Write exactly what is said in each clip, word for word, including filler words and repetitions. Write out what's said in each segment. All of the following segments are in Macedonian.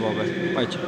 Бога. Пајче.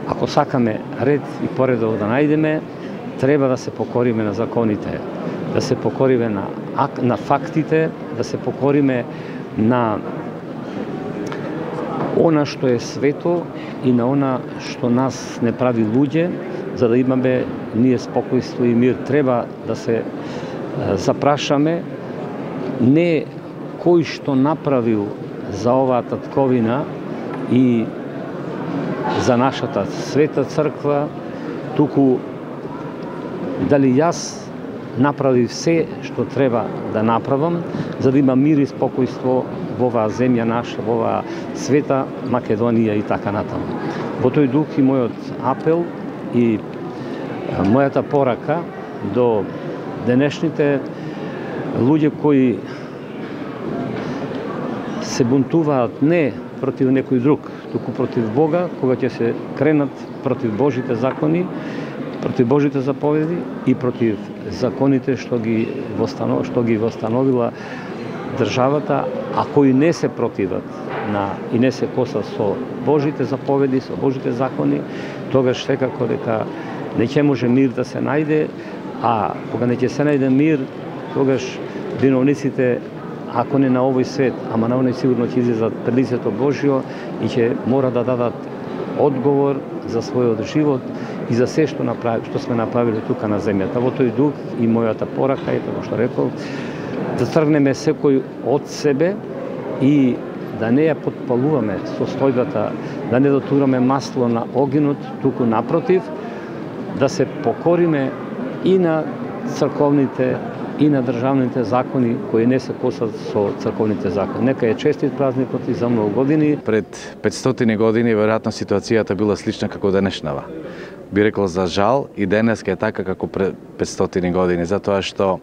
Ако сакаме ред и поредок да најдеме, треба да се покориме на законите, да се покориме на, на фактите, да се покориме на она што е свето и на она што нас не прави луѓе, за да имаме ние спокојство и мир. Треба да се запрашаме не кој што направил за оваа татковина и за нашата света црква, туку дали јас направив се што треба да направам, за да има мир и спокојство во оваа земја наша, во оваа света Македонија и така натаму. Во тој дух и мојот апел и мојата порака до денешните луѓе кои се бунтуваат не против некој друг, туку против Бога, кога ќе се кренат против Божите закони, против Божите заповеди и против законите што ги востанов, што ги востановила државата, а кои не се противат на и не се косат со Божите заповеди, со Божите закони, тогаш секако дека не ќе може мир да се најде, а кога не ќе се најде мир, тогаш виновниците, ако не на овој свет, ама на оној сигурно ќе излезат пред лицето Божјо и ќе мора да дадат одговор за својот живот и за се што направи, што сме направиле тука на земјата. Во тој дух и мојата порака е, како што рекол, да тргнеме секој од себе и да не ја потпалуваме состојбата, да не дотураме масло на огинот, туку напротив, да се покориме и на црковните и на државните закони кои не се косат со црковните закони. Нека е честит празникот и за многу години. Пред петстотини години веројатно ситуацијата била слична како денешнава. Би рекол за жал и денеска е така како пред петстотини години, затоа што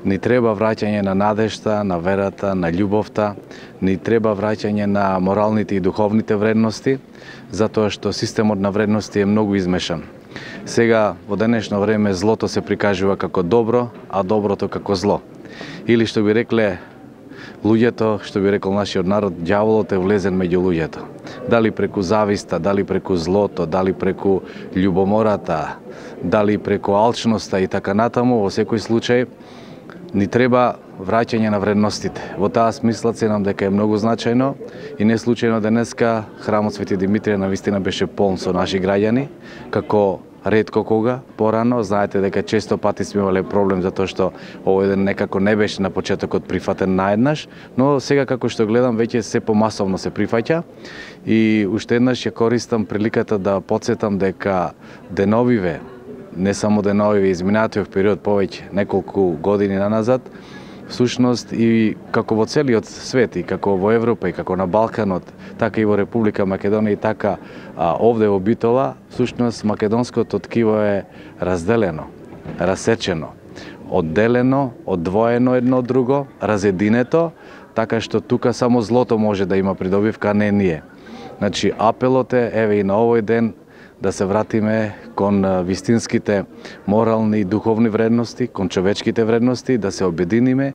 ни треба враќање на надежта, на верата, на љубовта, ни треба враќање на моралните и духовните вредности, затоа што системот на вредности е многу измешан. Сега, во денешно време, злото се прикажува како добро, а доброто како зло. Или што би рекле луѓето, што би рекол нашиот народ, ѓаволот е влезен меѓу луѓето. Дали преку зависта, дали преку злото, дали преку љубомората, дали преку алчноста и така натаму, во секој случај, ни треба враќање на вредностите. Во таа смисла ценам дека е многу значајно и не случајно денеска храмот Свети Димитрија навистина беше полн со наши граѓани, како ретко кога порано. Знаете дека често пати сме имале проблем затоа што овој ден некако не беше на почетокот прифатен наеднаш, но сега како што гледам веќе се помасовно се прифаќа и уште еднаш ја користам приликата да потсетам дека деновиве, не само деновиве, изминатиот период повеќе неколку години наназад, всушност и како во целиот свет, и како во Европа, и како на Балканот, така и во Република Македонија, и така а, овде во Битола, всушност македонското ткиво е разделено, расечено, одделено, одвоено едно од друго, разединето, така што тука само злото може да има придобивка, а не ние. Значи, апелот е, еве и на овој ден, да се вратиме кон вистинските морални и духовни вредности, кон човечките вредности, да се обединиме